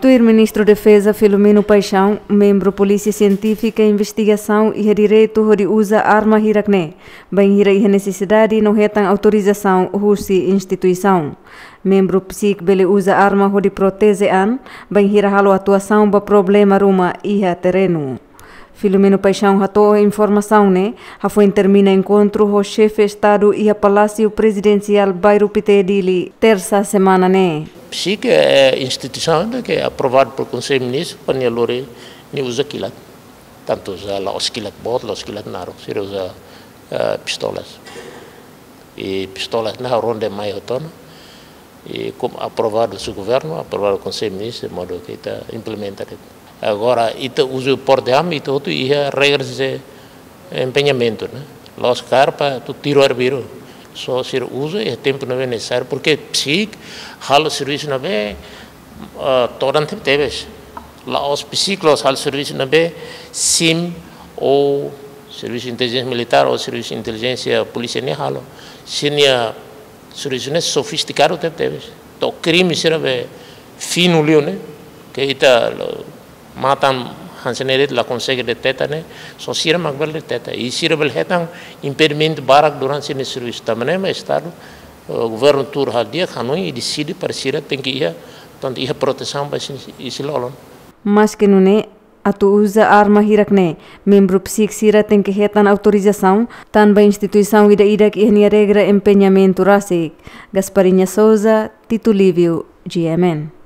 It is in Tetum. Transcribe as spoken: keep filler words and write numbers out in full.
Tuir Ministru Defeza Filomeno Paixão, membru Polísia Sientífika Investigasaun iha direitu hodi uza arma hirak ne'e, bainhira iha nesesidade no hetan autorizasaun husi instituisaun. Membru psík bele uza arma hodi proteje an, bainhira halo atuasaun ba problema ruma iha terrenu. Filomeno Paixão hato'o informasaun ne'e hafoin termina enkontru ho xefe Estadu iha Palásiu Prezidensiál Bairru Pité, Dili, tersa semana ne'e. Psík é instituisaun ke aprovadu por Konsellu Ministru para nia lori, nia uza kilat. Tantu uza la'ós kilat boot, la'ós kilat naruk, sira uza, eh, pistolas. I pistolas ne'e ronde mai hotu ona. I komu aprovadu husi governu, aprovadu Konsellu Ministru, modo ke ita implementa de'it. Agora, ita uza porte arma, ita hotu iha regras de empenhamentu, ne'e? La'ós kaer para atu tiru arbiru. Só sira uza iha tempu ne'ebé nesesáriu, porque psík halo servisu ne'ebé, ah, todan tebetebes. La'ós psík la'ós halo servisu ne'ebé sim ou servisu intelijénsia militár ou servisu intelijénsia polísia ne'e halo. Sira-nia servisu ne'e sofistikadu tebetebes. To'o krime sira be finu liu ne'e, ke ita lo matan hanesan ne'e de'it la konsege deteta ne'e, só sira mak bele deteta. I sira bele hetan impedimentu barak durante sira-nia servisu. Tanba ne'e mak Estadu, eh, governu tuur halo di'ak, hanoin i deside para sira tenke iha, tantu iha protesaun ba isin, isin-lolon. Maske nune'e, atu uza arma hirak ne'e, membru psík sira tenke hetan autorizasaun tanba instituisaun ida-idak iha nia regra empenhamentu rasik. Gasparinha Souza, Tito Lívio, G M N.